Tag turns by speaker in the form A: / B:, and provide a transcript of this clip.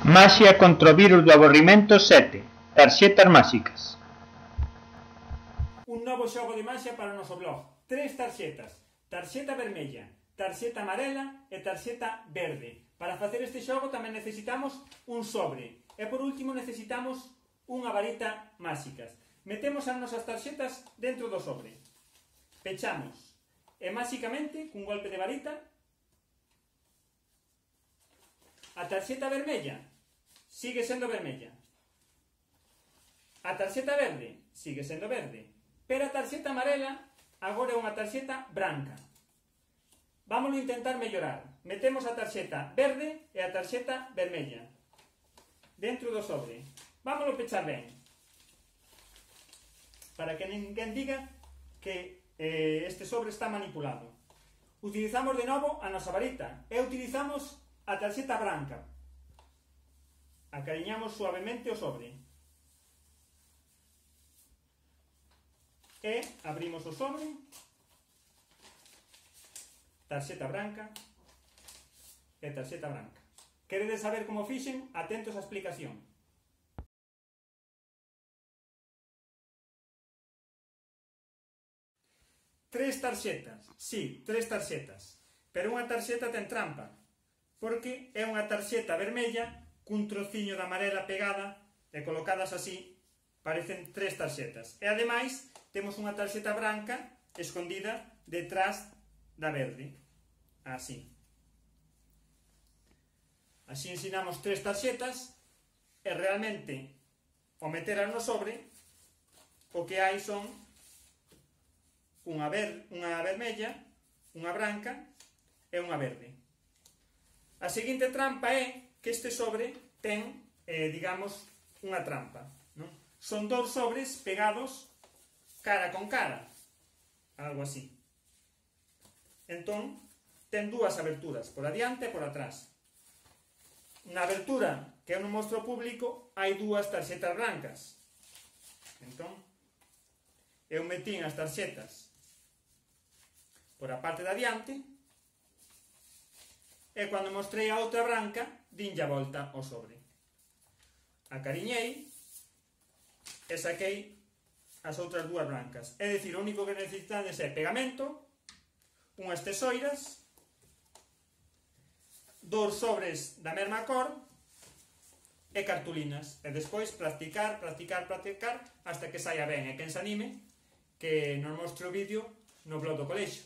A: Maxia contra o virus do aborrimento 7. Tarxetas máxicas.
B: Un novo xogo de maxia para o noso blog. 3 tarxetas. Tarxeta vermella, tarxeta amarela e tarxeta verde. Para facer este xogo tamén necesitamos un sobre. E por último necesitamos unha varita máxicas. Metemos as nosas tarxetas dentro do sobre. Pechamos. E máxicamente, cun golpe de varita, a tarxeta vermella sigue sendo vermella. A tarxeta verde sigue sendo verde. Pero a tarxeta amarela agora é unha tarxeta branca. Vámoslo intentar mellorar. Metemos a tarxeta verde e a tarxeta vermella dentro do sobre. Vámoslo pechar ben, para que ninguén diga que este sobre está manipulado. Utilizamos de novo a nosa varita e utilizamos a tarxeta branca. Acariñamos suavemente o sobre. E abrimos o sobre. Tarxeta branca e tarxeta branca. Queredes saber como fixen? Atentos á explicación. Tres tarxetas, sí, tres tarxetas. Pero unha tarxeta ten trampa, porque é unha tarxeta vermella cun trociño de amarela pegada e colocadas así, parecen tres tarxetas. E ademais, temos unha tarxeta branca escondida detrás da verde. Así. Así ensinamos tres tarxetas e realmente, ao meteras no sobre, o que hai son unha vermella, unha branca e unha verde. A seguinte trampa é que este sobre ten, digamos, unha trampa, non? Son dous sobres pegados cara con cara, algo así. Entón, ten dúas aberturas, por adiante e por atrás. Na abertura que eu non mostro ao público hai dúas tarxetas blancas. Entón, eu metín as tarxetas por a parte de adiante e cando mostrei a outra branca dinlle a volta ao sobre. Acariñei e saquei as outras dúas blancas. É dicir, o único que necesitades é pegamento, unhas tesoiras, dous sobres da mesma cor e cartulinas. E despois practicar hasta que saia ben. E quen se anime que nos mostre o vídeo no blog do colexio.